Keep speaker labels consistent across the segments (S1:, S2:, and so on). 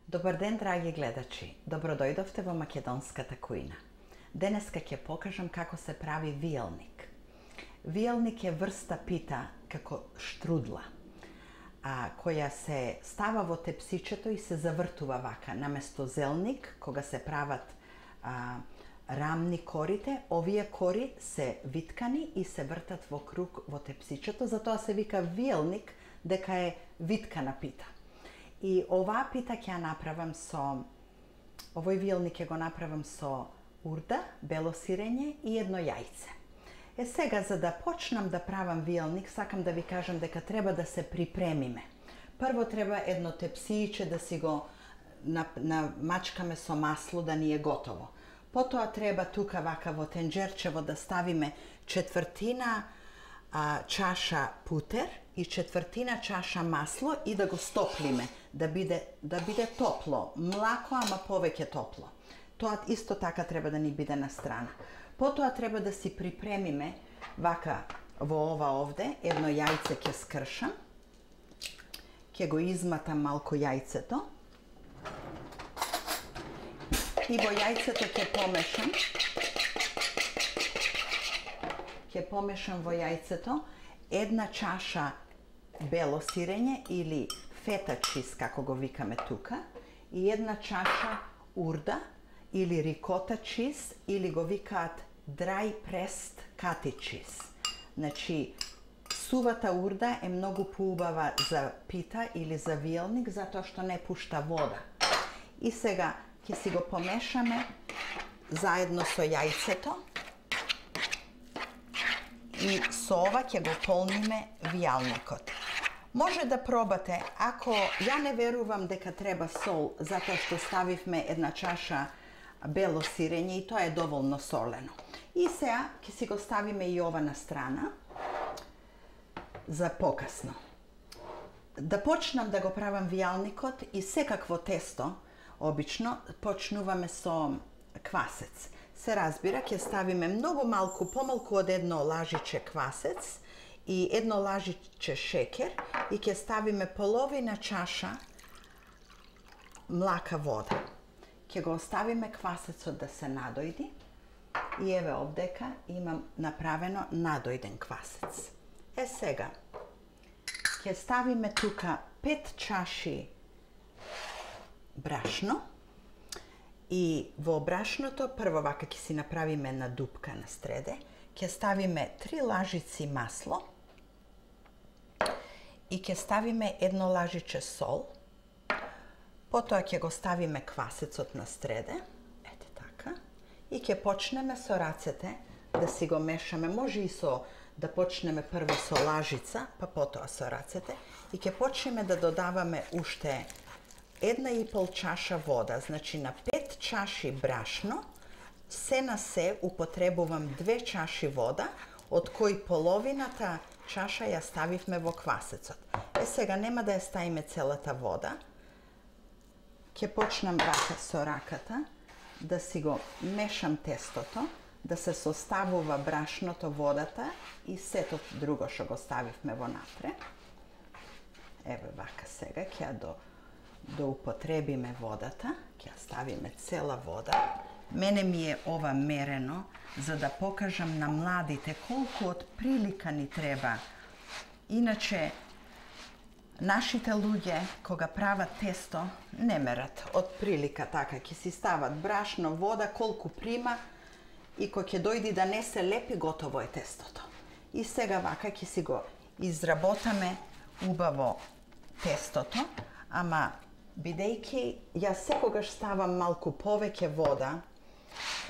S1: Добар ден, драги гледачи. Добродојдовте во македонската кујна. Денеска ќе покажам како се прави виелник. Виелник е врста пита како штрудла, која се става во тепсичето и се завртува вака. Наместо зелник, кога се прават рамни корите, овие кори се виткани и се вртат во круг во тепсичето, затоа се вика виелник, дека е виткана пита. И оваа пита ќе ја направам со, овој виелник ќе го направам со урда, бело сирење и едно јајце. Сега, за да почнам да правам виелник, сакам да ви кажам дека треба да се припремиме. Прво треба едно тепсијче да си го намачкаме со масло да ни е готово. Потоа треба тука вака во тенџерчево да ставиме четвртина чаша путер и четвртина чаша масло и да го стоплиме, да биде топло, млако, ама повеќе топло. Тоа исто така треба да ни биде на страна. Потоа треба да си припремиме вака во ова овде, едно јајце ќе скршам, ќе го изматам малку јајцето и во јајцето ќе помешам во јајцето една чаша бело сирење или фета чиз, како го викаме тука, и една чаша урда или рикота чиз, или го викаат dry pressed cottage cheese. Значи, сувата урда е многу поубава за пита или за виелник, затоа што не пушта вода. И сега ќе си го помешаме заедно со јајцето и со ова ќе го полниме вијалникот. Може да пробате, ако ја не верувам дека треба сол, затоа што ставивме една чаша бело сирење и тоа е доволно солено. И сега ќе си го ставиме и ова на страна за покасно. Да почнам да го правам вијалникот и секакво тесто, обично, почнуваме со квасец. Се разбира, ќе ставиме многу малку, помалку од едно лажиче квасец и едно лажиче шекер и ќе ставиме половина чаша млака вода. Ќе го оставиме квасецот да се надојди и еве овдека имам направено надојден квасец. Сега, ќе ставиме тука 5 чаши брашно и во брашното прво вака ќе си направиме една дупка на среде, ќе ставиме 3 лажици масло и ќе ставиме едно лажиче сол. Потоа ќе го ставиме квасецот на среде, ете така, и ќе почнеме со рацете да си го мешаме. Може и да почнеме прво со лажица, па потоа со рацете, и ќе почнеме да додаваме уште 1,5 чаша вода. Значи на 5 чаши брашно, се на се употребувам 2 чаши вода, од кои половината чаша ја ставивме во квасецот. Сега нема да ја ставиме целата вода. Ќе почнам вака со раката да си го мешам тестото, да се составува брашното, водата и сето друго што го ставивме во напред. Еве вака сега ќе да употребиме водата, ќе ставиме цела вода. Мене ми е ова мерено за да покажам на младите колку од прилика ни треба. Иначе нашите луѓе кога прават тесто не мерат од прилика така, ќе си стават брашно, вода, колку прима и кога ќе дојди да не се лепи, готово е тестото. И сега вака ќе си го изработаме убаво тестото, ама бидејќи јас секогаш ставам малку повеќе вода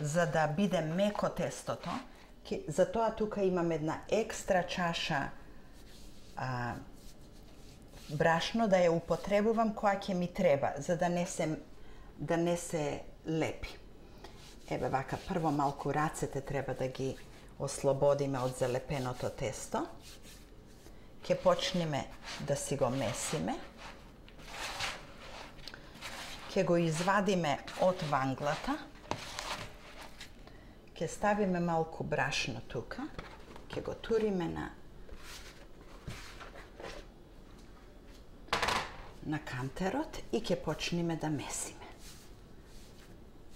S1: за да биде меко тестото, затоа тука имам една екстра чаша брашно да ја употребувам која ќе ми треба, за да не се лепи. Еве вака, прво малку рацете треба да ги ослободиме од залепеното тесто. Ќе почнеме да си го месиме. Ќе го извадиме од ванглата. Ќе ставиме малку брашно тука. Ќе го туриме на кантерот и ќе почнеме да месиме.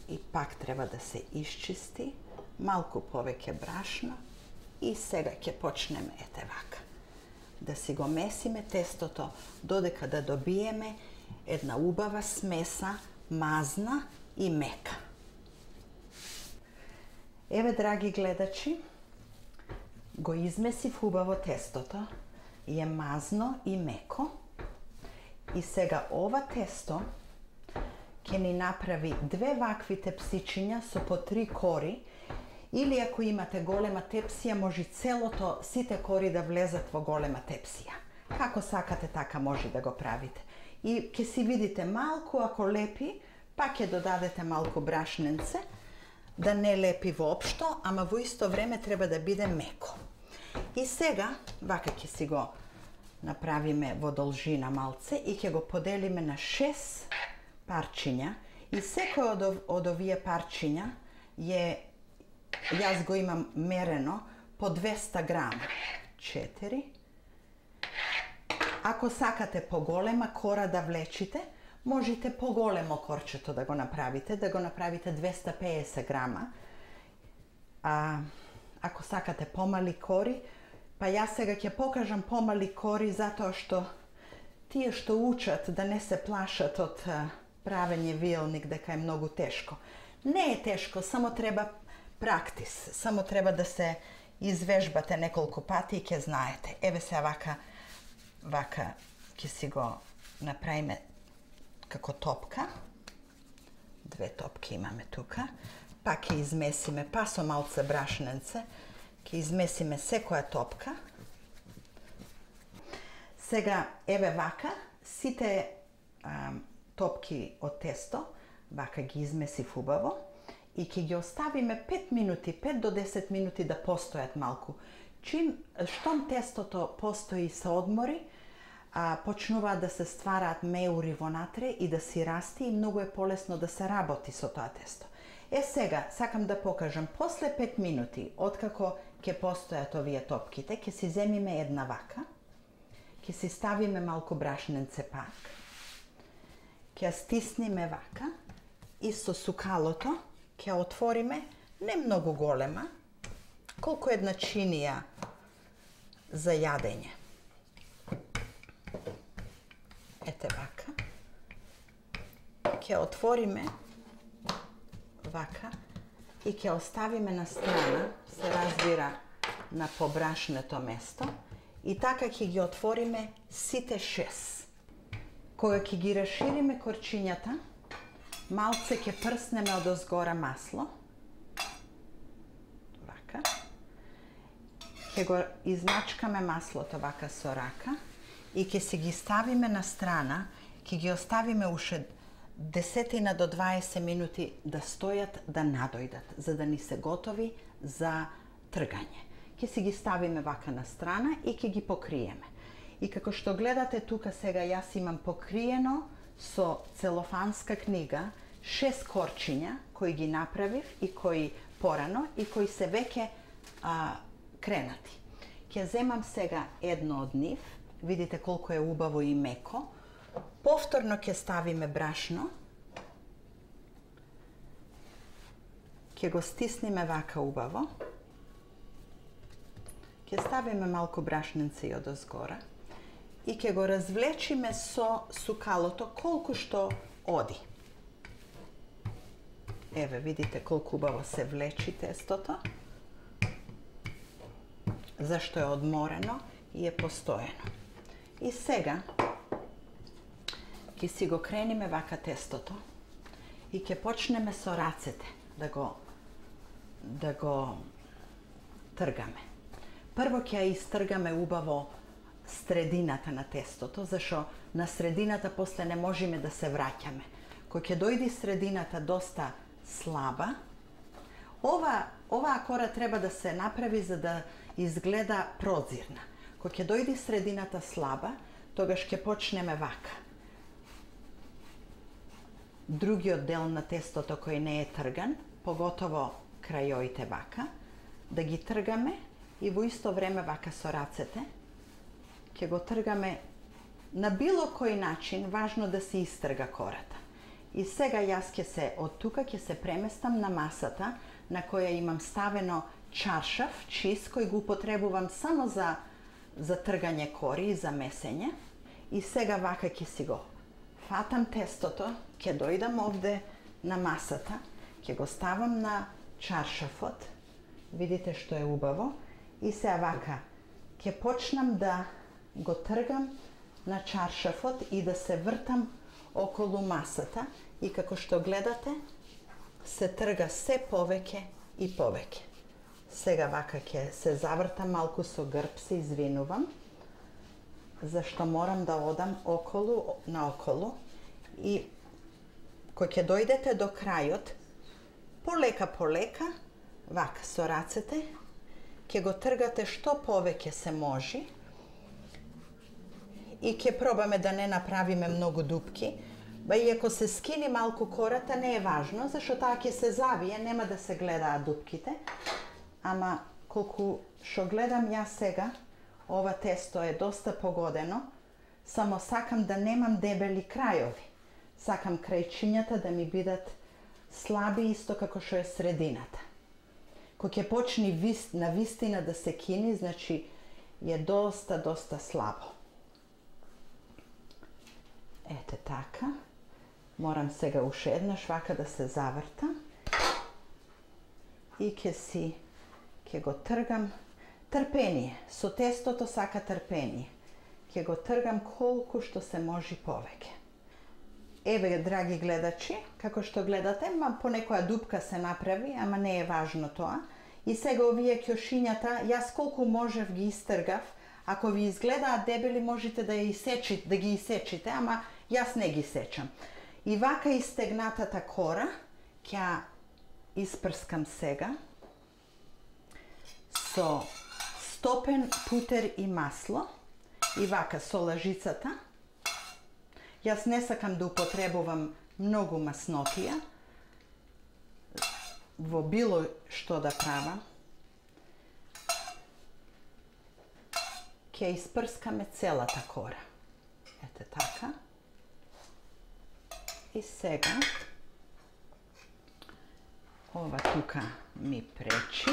S1: И пак треба да се исчисти, малку повеќе брашно и сега ќе почнеме ете вака. Да си го месиме тестото додека да добиеме една убава смеса, мазна и мека. Еве, драги гледачи, го измесив убаво тестото, е мазно и меко. И сега ова тесто ќе ни направи две вакви тепсичиња со по 3 кори, или ако имате голема тепсија, може целото, сите кори да влезат во голема тепсија. Како сакате, така може да го правите. И ќе си видите малку, ако лепи, па ќе додадете малку брашненце, да не лепи воопшто, ама во исто време треба да биде меко. И сега, вака ќе си го направиме во должина малце и ќе го поделиме на 6 парчиња. И секој од овие парчиња е, јас го имам мерено, по 200 грама. 4. Ако сакате поголема кора да влечите, можете поголемо корчето да го направите 250 грама. Ако сакате помали кори, па јас сега ќе покажам помали кори затоа што тие што учат да не се плашат од правење вилник дека е многу тешко. Не е тешко, само треба практис, само треба да се извежбате неколку пати и ќе знаете. Еве се вака ќе си го направиме како топка. 2 топки имаме тука. Па ќе измесиме, па со малце брашненце, ќе измесиме секоја топка. Сега, еве вака, сите топки од тесто, вака ги измесив убаво и ќе ги оставиме 5 минути, 5 до 10 минути да постојат малку. Штом тестото постои и се одмори, почнуваат да се ствараат меури вонатре и да си расти и многу е полесно да се работи со тоа тесто. Сега, сакам да покажам, после 5 минути, откако ќе постојат овие топките, ќе си земиме една вака, ќе си ставиме малку брашненце пак, ќе ја стисниме вака и со сукалото ќе отвориме, не многу голема, колку една чинија за јадење. Ете вака. Ќе отвориме вака и ќе оставиме на страна, се разбира на побрашнето место, и така ќе ги отвориме сите 6. Кога ќе ги расшириме корчињата, малце ќе прснеме од озгора масло. Вака. Ќе го измачкаме маслото вака со рака и ќе си ги ставиме на страна, ќе ги оставиме уште 10 до 20 минути да стојат, да надојдат, за да ни се готови за тргање. Ќе си ги ставиме вака на страна и ќе ги покриеме. И како што гледате тука сега, јас имам покриено со целофанска книга 6 корчиња кои ги направив и кои порано и кои се веќе кренати. Ќе земам сега едно од нив, видите колку е убаво и меко. Повторно ќе ставиме брашно. Ќе го стисниме вака убаво. Ќе ставиме малку брашненце и одозгора. И ќе го развлечиме со сукалото колку што оди. Еве, видите колку убаво се влечи тестото. Зашто е одморено и е постојано. И сега ќе си го крениме вака тестото и ќе почнеме со рацете да го тргаме. Прво ќе ја истргаме убаво средината на тестото, зашто на средината после не можеме да се враќаме. Кога ќе дојде средината доста слаба, оваа кора треба да се направи за да изгледа прозирна. Кога ќе дојде средината слаба, тогаш ќе почнеме вака. Другиот дел на тестото кој не е трган, поготово крајоите вака, да ги тргаме и во исто време вака со рацете ќе го тргаме на било кој начин важно да се истрга кората. И сега јас од тука ќе се преместам на масата на која имам ставено чаршаф, чист, кој го употребувам само за тргање кори и за месење. И сега вака ќе си го фатам тестото, ќе дојдам овде на масата, ќе го ставам на чаршафот. Видите што е убаво. И сега вака ќе почнам да го тргам на чаршафот и да се вртам околу масата. И како што гледате, се трга се повеќе и повеќе. Сега вака ќе се завртам малку со грб, се извинувам, зашто морам да одам околу, наоколу. И кога ќе дојдете до крајот, полека, вака со рацете, ќе го тргате што повеќе се може и ќе пробаме да не направиме многу дупки. Ба и ако се скини малку кората, не е важно, зашто таа ќе се завие, нема да се гледаат дупките. Ама колку што гледам јас сега, ова тесто е доста погодено, само сакам да немам дебели крајови. Сакам крајчињата да ми бидат слаби, исто како што е средината. Кога ќе почне на вистина да се кини, значи е доста слабо. Ете така. Морам сега уште еднаш вака да се завртам и ќе го тргам. Трпение, со тестото сака трпение. Ќе го тргам колку што се може повеќе. Еве, драги гледачи, како што гледате, понекоја дупка се направи, ама не е важно тоа. И сега овие ќошињата, јас колку можев ги истргав. Ако ви изгледаат дебели, можете да ги исечите, ама јас не ги сечам. И вака истегнатата кора ќе испрскам сега со стопен путер и масло и вака со лажицата. Јас не сакам да употребувам многу маснотија во било што да правам. Ќе испрскаме целата кора. Ете така. И сега ова тука ми пречи.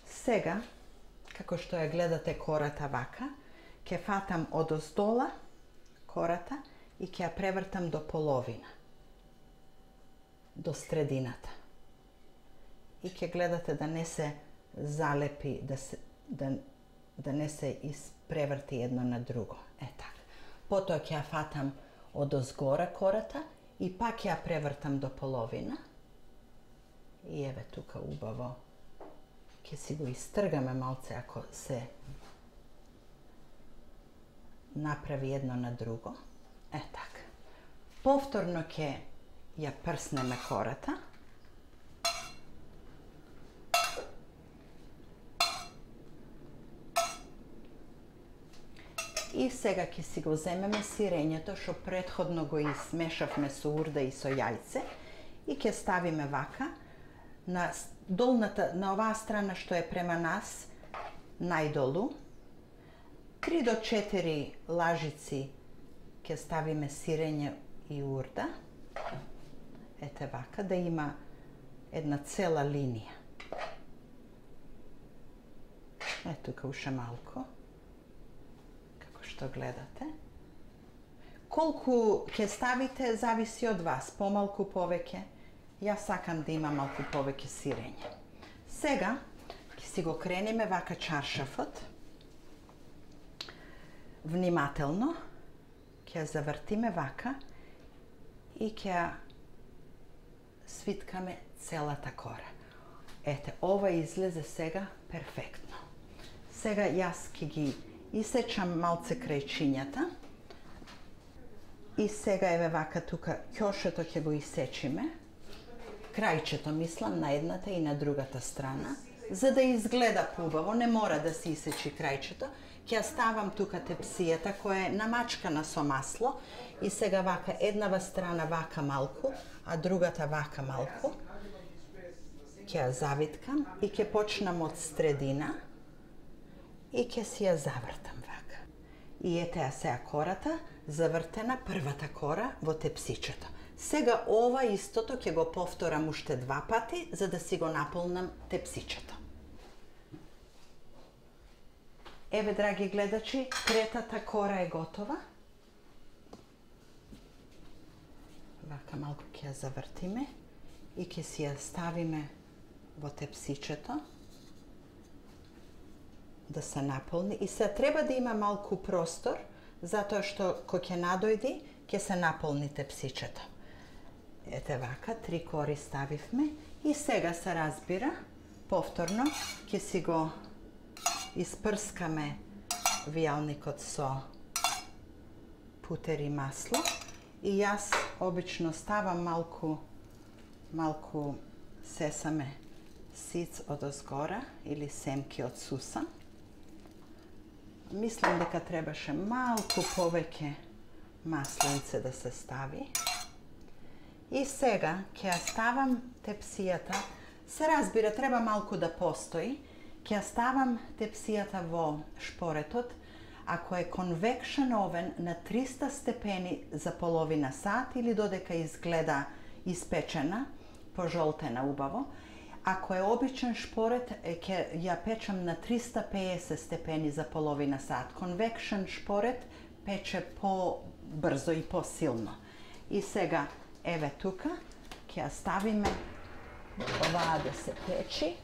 S1: Сега, како што ја гледате кората вака, ќе фатам одоздола кората и ќе ја превртам до половина, до средината. И ќе гледате да не се залепи, да не се испреврти едно на друго. Така. Потоа ќе ја фатам одозгора кората и пак ја превртам до половина. И еве тука убаво. Ќе си го истргаме малце ако се направи едно на друго. Така. Повторно ќе ја прснеме кората. И сега ќе си го земеме сирењето што претходно го измешавме со урда и со јајце и ќе ставиме вака на долната, на оваа страна што е према нас, најдолу. 3 до 4 лажици ќе ставиме сирење и урда. Ете вака, да има една цела линија. Ето тука уште малку. Што гледате. Колку ќе ставите зависи од вас, помалку, повеќе. Јас сакам да има малку повеќе сирење. Сега ќе си го крениме вака чаршафот. Внимателно ќе завртиме вака и ќе свиткаме целата кора. Ете, ова излезе сега перфектно. Сега јас ќе ги исечам малце крајчињата и сега еве вака тука ќошето ќе го исечиме. Крајчето мислам на едната и на другата страна, за да изгледа поубаво, не мора да се исечи крајчето. Ќе ја ставам тука тепсијата која е намачкана со масло и сега вака еднава страна вака малку, а другата вака малку. Ќе ја завиткам и ќе почнам од средина и ќе си ја завртам вака. И ете ја сега кората, завртена првата кора во тепсичето. Сега ова истото ќе го повторам уште 2 пати, за да си го наполнам тепсичето. Еве, драги гледачи, третата кора е готова. Вака малку ќе ја завртиме и ќе си ја ставиме во тепсичето да се наполни. И се треба да има малку простор, затоа што кога ќе надојди, ќе се наполни тепсичето. Ете вака, 3 кори ставивме и сега се разбира, повторно ќе си го испрскаме вијалникот со путер и масло и јас обично ставам малку сесаме сиц од озгора или семки од сусан. Мислам дека требаше малку повеќе маслинце да се стави. И сега ќе ја ставам тепсијата. Се разбира, треба малку да постои. Ќе ја ставам тепсијата во шпоретот. Ако е конвекшен овен на 300 степени за половина сат или додека изгледа испечена, пожолтена убаво. Ако е обичен шпорет, ќе ја печам на 350 степени за половина сат. Конвекшен шпорет пече по-брзо и по-силно. И сега, еве тука, ќе ја ставиме оваа да се печи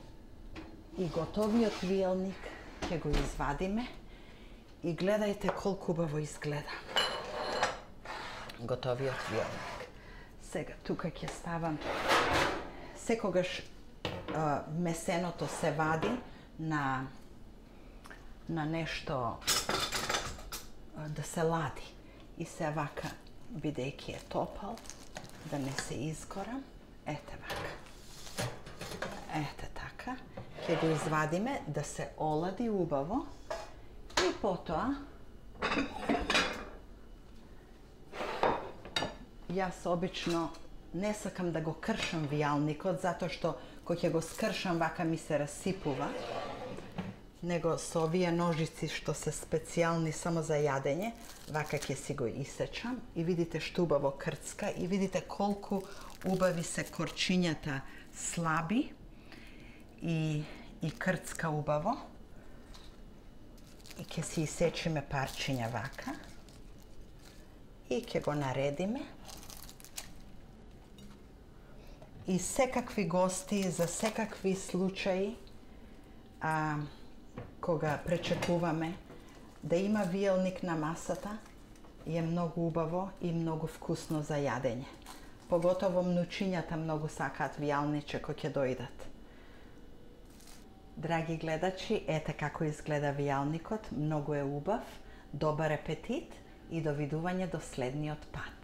S1: и готовиот вијалник ќе го извадиме и гледајте колку убаво изгледа готовиот вијалник. Сега тука ќе ставам, секогаш месеното се вади на нешто да се лади. И се вака, бидејќи е топал, да не се изгорам, ете вака. Ете така. Ќе го извадиме да се олади убаво и потоа јас обично не сакам да го кршам вијалникот, затоа што кога ќе го скршам вака ми се расипува, него со овие ножици што се специјални само за јадење, вака ќе си го исечам и видите што убаво крцка и видите колку убави се корчињата слаби и крцка убаво. И ќе си исечиме парчиња вака и ќе го наредиме. И секакви гости, за секакви случаи, кога пречекуваме да има вијалник на масата, е многу убаво и многу вкусно за јадење. Поготово мнучињата многу сакаат вијалниче кои ќе дојдат. Драги гледачи, ете како изгледа вијалникот, многу е убав, добар апетит и довидување до следниот пат.